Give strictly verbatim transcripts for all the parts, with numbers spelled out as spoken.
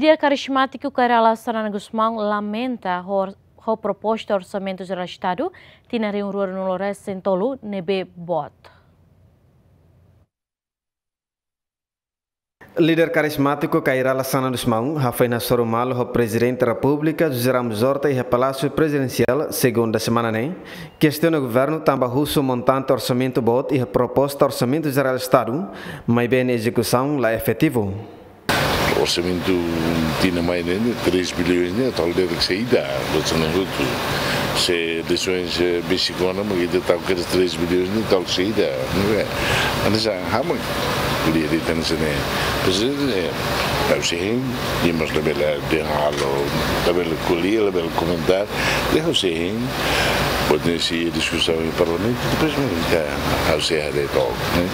Líder karizmátiku Kay Rala Xanana Gusmão lamenta ho, ho proposta Orsamentu Jerál Estadu tinan rihun rua ruanulu resin tolu ne'ebé boot. Líder karizmátiku Kay Rala Xanana Gusmão hafoin hasoru malu ho Prezidente Repúblika José Ramos Horta iha Palásiu Prezidensiál, segunda semana ne'e, kestiona governu tanba husu montante orsamentu boot iha proposta Orsamentu Jerál Estadu, maibé nia ezekusaun la efetivu. Orsamentu tinan mai ne'e, três bilhões ne'e, tau de'it saida, buat ne'e hotu. Se eleisoens, eh, besik ona, mak ita tau kedas três bilhões ne'e, tau saida, ne'e. Hanesan, ha'u mak ko'alia de'it hanesan ne'e. Pois, eh, ha'u sei hein, nia mós labele dehan halo, labele ko'alia, labele komentar, dehan ha'u sei hein, buat ne'e sei diskusaun iha parlamentu, depois, mak ita, ha'u sei haree took, ne'e.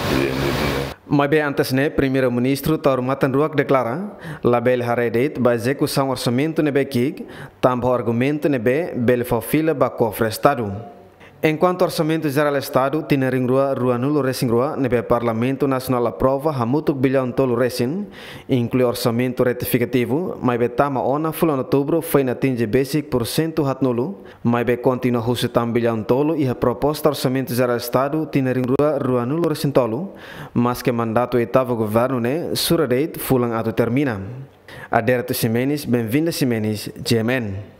Maibé antes ne'e, Primeiru-Ministru Taur Matan Ruak deklara, labele haree de'it ba ezekusaun orsamentu ne'ebé ki'ik, tanba argumentu ne'ebé bele fó fila ba kofre Estadu. Enkuantu Orsamentu Jerál Estadu tinan rihun rua ruanulu resin rua ne'ebé Parlamentu Nasionál aprova hamutuk bilhões tolu resin, inklui orsamentu retifikativu, maibé tama ona fulan Outubru foin atinje besik pursentu haatnulu, maibé kontinua husu tan bilhões tolu iha proposta Orsamentu Jerál Estadu tinan rihun rua ruanulu resin tolu, maske mandatu oitavu governu ne'e sura de'it fulan atu termina. Adérito Ximenes, Benvinda Ximenes, G M N.